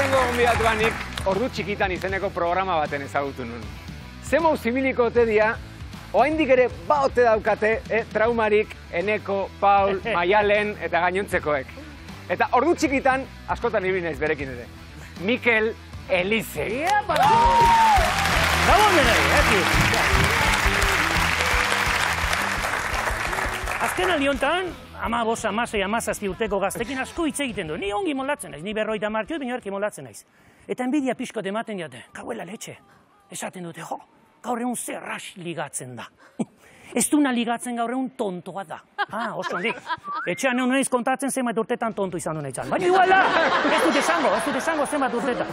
Lehenengo gonbidatuanik ordu txikitan izeneko programa baten ezagutu nun. Zemou zimiliko ote dia, oraindik ere ote daukate traumarik Eneko, Paul, Maialen eta gainontzekoek. Eta ordu txikitan askotan ibili naiz berekin ere. Mikel Elize. Gabon denoi, azken aldi honetan, 15, 16, 17 urteko gaztekin asko hitz egiten du. Ni ongi moldatzen naiz, ni 50 martio, baina erki moldatzen naiz. Eta enbidia pixkot ematen jate, kauela letxe. Esaten dute, jo, gaur egun zerras ligatzen da. Ez duna ligatzen gaur egun tontoa da. Oso ondik. Etxean egon naiz kontatzen zenbat urtetan tonto izan du nahitzan. Baina igual da, ez dut esango zenbat urtetan.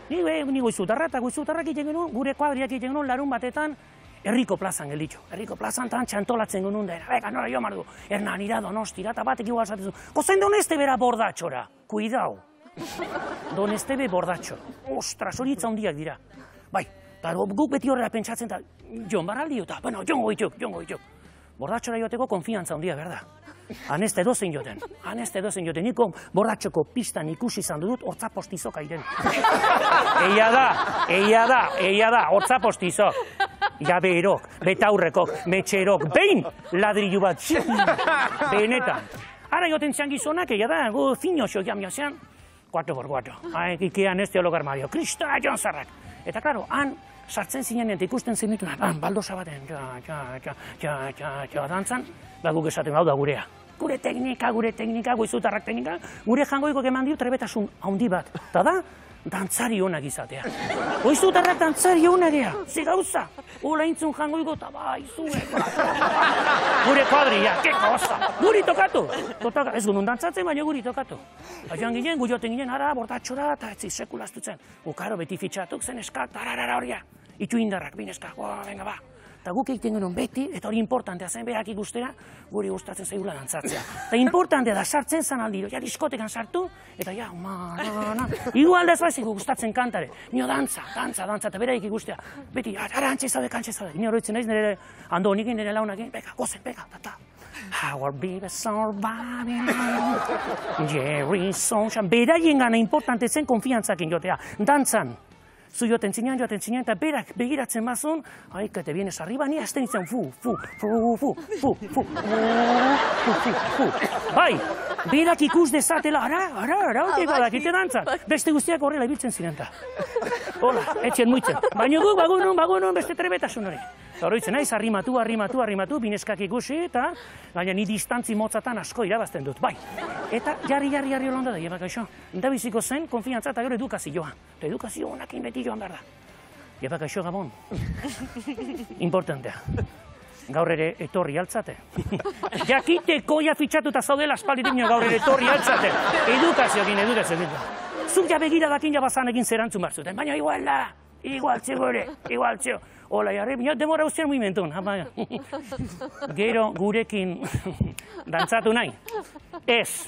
Ni goizutarrak egiten genuen, gure kuadriak egiten genuen larun batetan, Herriko plazan gelditxo. Herriko plazan tan txantolatzen genuen da. Beka, nora jo mardu. Hernan ira donostira, eta batek igual zatezu. Kozen doneste bera bordatxora. Kuidao. Donestebe bordatxo. Ostras, hori itza hondiak dira. Bai, eta guk beti horrela pentsatzen eta jon barraldi eta, bueno, jongo itxuk. Bordatxora joateko konfiantza hondia, berda. Aneste dozen joten. Niko bordatxoko pistan ikusi izan dut, hortzapostizok airen. Eia da, hortzapostizok. Jabeerok, betaurrekok, metxerok, behin ladrillu bat, benetan. Ara joten zean gizonak, eia da, gu zinioxo jamiozean, 4x4. Ikean ez teolog armario, krista jonzarrak. Eta, klaro, han sartzen zinen eta ikusten zenituna, baldosa baten, dantzan, guk esaten hau da gurea. Gure teknika, goizutarrak teknika, gure jangoiko eman dio trebetasun handi bat. Eta da, dantzari honak izatea. Goizutarrak dantzari honak ea, ze gauza. Ola intzun jangoiko eta bai, zuek. Gure kuadria, ke gauza. Guri tokatu. Ez gunun dantzatzen, baina guri tokatu. Joan ginen, gu joten ginen, ara, bordatxora, eta ez sekulaztutzen. Ukaro, beti fitxatuk zen eskak, tararara horia. Itu indarrak, bineskak, venga ba. Eta guk egiten genuen beti, eta hori importantea zen berak ikustera, guri gustatzen zaigula dantzatzea. Eta importantea da sartzen zan aldiro, ja diskotekan sartu, eta ja, igual da ez baizik gustatzen kantare. Nio dantza, eta beraik ikustea. Beti, ara antxe zaude. Ni horretzen naiz nire andonikin, nire launakin, beka, gozen, beka, tata. Our baby surviving, Jerry Sunshine. Beraien gana importante zen konfiantzakin jotea, dantzan. Zu joten zinean, eta berak begiratzen bazun, haika, te vienes arriba, ni azten izan, fu. Bai, berak ikus dezatela, ara, dakite dantzat. Beste guztiak horrela ibiltzen ziren ta. Hola, etxen muitzen. Baina guk, bagunun, beste trebetasun hori. Horroitzen naiz, arrimatu, bineskak ikusi, eta gaina ni distantzi motzatan asko irabazten dut, bai. Eta jarri holanda da, jebak aixo. Da biziko zen, konfiantza eta gero edukazioa. Eta edukazio honakin beti joan behar da. Jebak aixo, Gabon. Importantea. Gaur ere etorri altzate. Jakiteko ja fitxatuta zaudela aspalditik gaur ere etorri altzate. Edukazioekin. Zuk ja begira dakin jabazanekin zerantzun barzuten, baina igualtzeo. Hola, jarri, demora ustean mugimentun. Gero gurekin dantzatu nahi. Ez.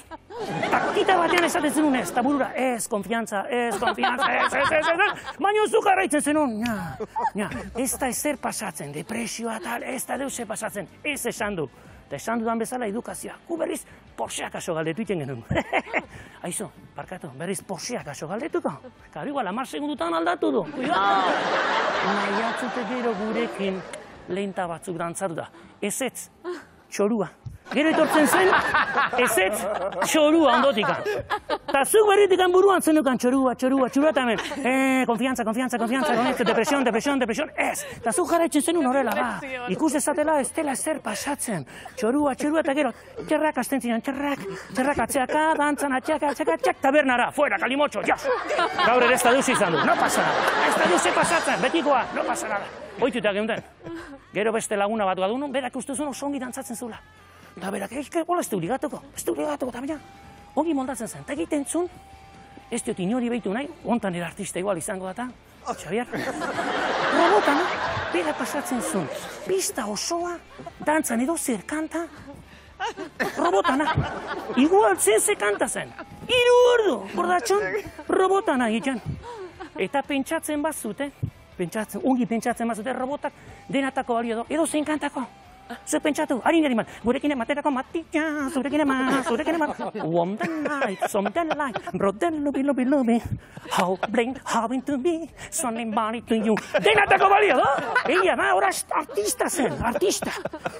Takita batean esaten zenun ez, taburura, ez, konfiantza, ez. Baina zuk arraitzen zenun. Ez da ezer pasatzen, depresioa tal, ez da deuse pasatzen. Ez esan du. Eta esan dudan bezala edukazioa. Gu berriz Porscheak aso galdetu iten genuen. Aizu, parkatu, berriz Porscheak aso galdetuko. Karo, igual, 10 segundutan aldatu du. Nahiatzute gero gurekin lehenta batzuk dantzatu da. Ezetz, txorua. Gero etortzen zen, ezetz, txorua ondotikan. Eta zuk berritikan buruan zenukan txorua, eta hemen. Konfiantza, depresion, ez. Eta zuk jarraitzen zenun horrela, ba. Ikus dezatela ez dela ezer pasatzen. Txorua, eta gero, txerrak azten zinean, txerrak atzeaka, dantzan atzeaka, txak, tabernara, fuera, kalimotxo, jas. Gaur ere ez da duzi izan du, no pasa nada. Ez da duzi pasatzen, betikoa, no pasa nada. Oituta geunten. Gero beste laguna bat gadunun, berak ustezun oso ongi dantzatzen zula. Eta berak, hola, ez du ligatuko, eta baina, ongi moldatzen zen. Eta egiten zun, ez diot inori behitu nahi, ontan ere artista igual izango data, Xavier. Robotana, bera pasatzen zun, pista osoa, dantzan edo zer kanta, robotana, igual ze kanta zen. 3 ordu, bordatxon, robotana egiten. Eta pentsatzen bazute, ongi pentsatzen bazute, robotak denatako balio edo zein kantako. Zuek pentsatu, harin gari man, gurekin ematerako matia, zurekin ema. Warm the night, some the light, brought the lobby. How blind, having to be, somebody to you. Denatako balio, da? Egia da, ora artista zen, artista.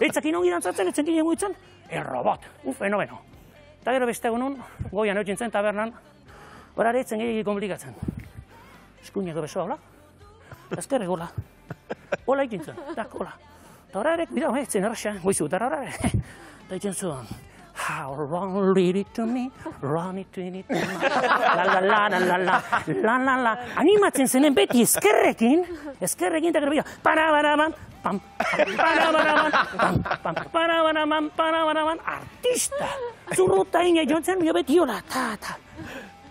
Etzakin ongi dantzatzen, etzakin eguitzen, robot, un fenomeno. Eta gero beste egunon, goian eutzen zen tabernan, ora etzen gehiagik komplikatzen. Eskuineko besoa hola, ezkerrek hola, hola ikintzen, tak hola. Eta ora ere, bidau, zen erraxa, goizu, eta ora ere. Eta itzen zuen, how long lead it to me, run it to me, la. Animatzen zenen beti ezkerrekin, eta gero bidau, para-bara-ban, pam, artista. Zurruta ina jontzen, bio beti hola, ta.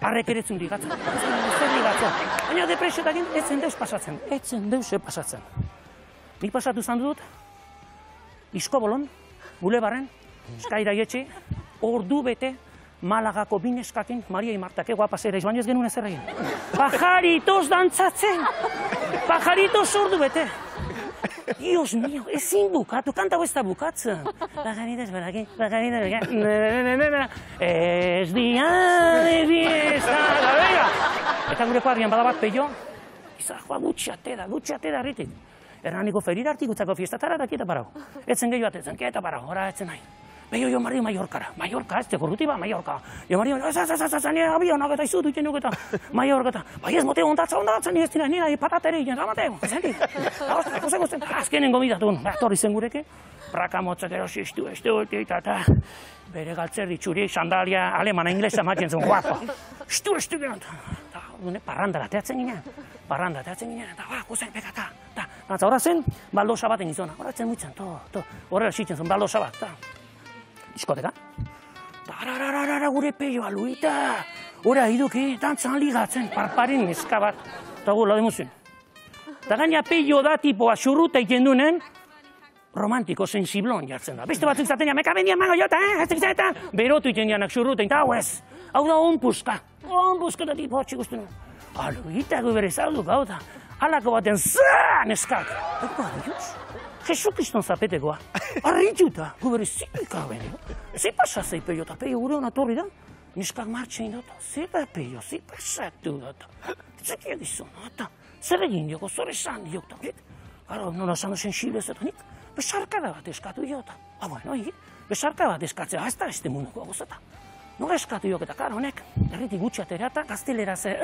Arrek ere zun ligatzen, baina depresiotakin etzen deus pasatzen, Nik pasatu zan dut, Iskobolon, Bulebarren, Eskaira Ietxe, ordu bete, Malagako bineskakin, Maria Imartak, guapa zera, baina ez genuen ezer egin. Pajaritos dantzatzen, pajaritos ordu bete. Dios mío, ezin bukatu, kanta ez da bukatzen. Pajaritos, ez dia de fiesta, venga! Eta gure kuadrian badabat peio, izajoa dutxate da herritik. Hernaniko ferira artikutzako fiestatara da kieta parau. Etzen gehiago atetzen, kieta parau, ora etzen nahi. Beio jo Mario Mallorcara, ez tekorruti ba, Mallorca. Jo Mario, zazazazazan, abionak eta izutu iten duk eta Mallorca eta, bai ez mote ondatzen, ez dira, nina patatere iten, zamateo, zentik. Gusten, azkenen gomidatun, torri zen gureke, praka motzak erosi eta bere galtzerdi txuri, sandalia, alemana, inglesa maten zen, guapo. Estu gero, parrandara teatzen ginen, eta guzen, pekata, eta horra zen, baldosa baten izona, horra zen muitzen, horrela xitzen zen, baldosa bat, diskoteka. Tarararara gure peioa, Luita. Hora iduki, dantzan ligatzen, parparin neska bat. Eta gula demuzien. Eta gaina peio da tipoa xurruta iten dunen, romantiko, sensiblon jartzen da. Beste batzuk zaten ja, meka bendian mago jota, berotu iten janak xurruta, eta hau ez. Hau da onpuska da tipo hotxik uste nuen. Luita gu bere zalduk, hau da. Halako baten zaa neskak. Eko adios. Jesukriston zapetekoa, arritxuta, guberi zipika benio. Zipa sasei peio eta peio gure hona torri da, neskak martxein data, zipa peio, zipa satu data. Zekia gizon, zer egin dioko, zer esan diokta. Gara, nola zano sensible zetan, nik besarkada bat eskatu diota. Bueno, besarkada bat eskatzea, ez da este munduko gozeta. Nola eskatu diok eta kara honek, erritik gutxatera eta gaztelera ze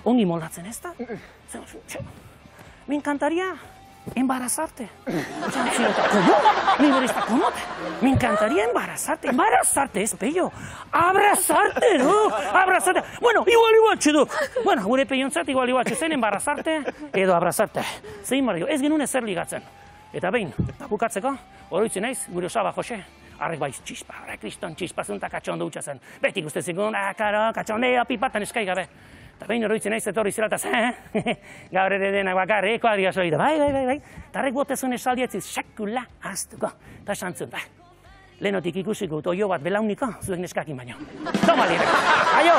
ongi moldatzen ez da. Me encantaría embarazarte. ¿Cómo? Me encantaría embarazarte. Embarazarte es pello. Abrazarte, ¿no? Abrazarte. Bueno, igual, chido. Bueno, gure peiontzat igual, zen embarazarte edo abrazarte. Zein mario, ez genuen ezer ligatzen. Eta behin, bukatzeko, oroitzen naiz, gure osaba Jose, harrek baiz txispa, kriston txispazunta katxondo utxa zen. Beti guzti zigun, karo, katxondea, pipatan eskai gabe. Eta behin oroitzen naiz etorri zilataz, gaur ere denak bakarri, kuadria soida, bai. Eta harrek botezun esaldietziz, sekula aztuko. Eta esantzun, lehenotik ikusiko, oio bat belauniko, zuek neskakin baino. Toma libre. Aio!